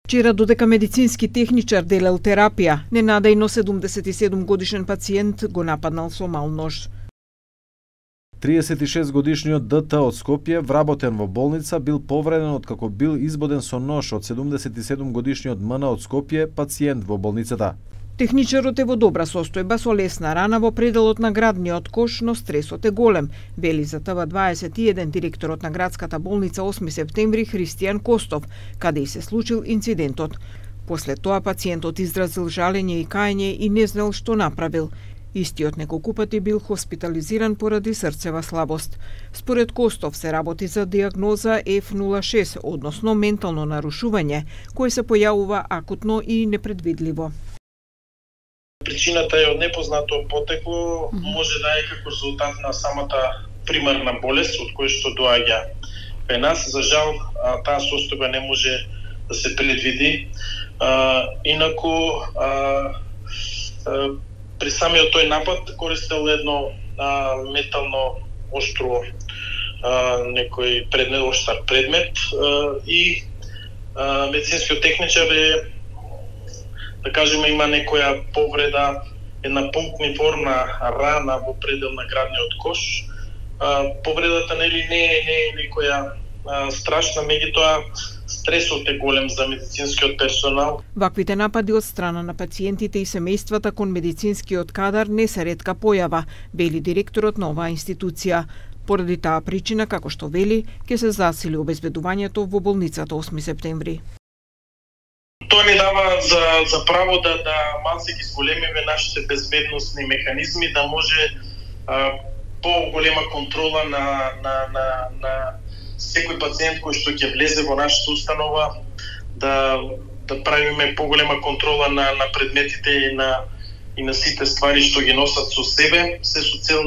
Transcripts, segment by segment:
Вчера додека медицински техничар делел терапија, ненадејно 77 годишен пациент го нападнал со мал нож. 36 годишниот ДТ од Скопје, вработен во болница, бил повреден откако бил избоден со нож од 77 годишниот МН од Скопје, пациент во болницата. Техничарот е во добра состојба со лесна рана во пределот на градниот кош, но стресот е голем, вели за ТВ21 директорот на градската болница 8 септември Христијан Костов, каде и се случил инцидентот. После тоа пациентот изразил жалење и кајање и не знал што направил. Истиот неколку пати бил хоспитализиран поради срцева слабост. Според Костов се работи за диагноза F06, односно ментално нарушување, кое се појавува акутно и непредвидливо. Причината е од непознато потекло, може да е како резултат на самата примарна болест од која што доаѓа кај нас. За жал, таа состојба не може да се предвиди. Инаку, при самиот тој напад користел едно метално оштро некој предмет, оштар предмет и медицинскиот техничар е, да кажеме, има некоја повреда, една пунктиформна рана во предел на градниот кош. Повредата не е некоја страшна, меѓутоа стресот е голем за медицинскиот персонал. Ваквите напади од страна на пациентите и семејствата кон медицинскиот кадар не се ретка појава, вели директорот на оваа институција. Поради таа причина, како што вели, ќе се засили обезбедувањето во болницата 8 септември. Тоа ни дава за право да малце ги зголемиме нашите безбедносни механизми, да може по-голема контрола на секој пациент кој што ќе влезе во нашата установа, да правиме поголема контрола на предметите и на сите ствари што ги носат со себе, се со цел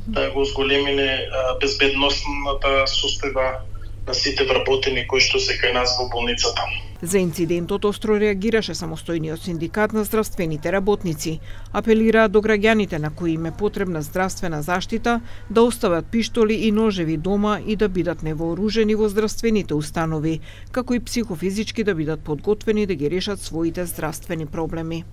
да го зголемиме безбедносната состојба на сите вработени кои што се кај нас во болницата. За инцидентот остро реагираше самостојниот синдикат на здравствените работници. Апелираа до граѓаните на кои им е потребна здравствена заштита да остават пиштоли и ножеви дома и да бидат невооружени во здравствените установи, како и психофизички да бидат подготвени да ги решат своите здравствени проблеми.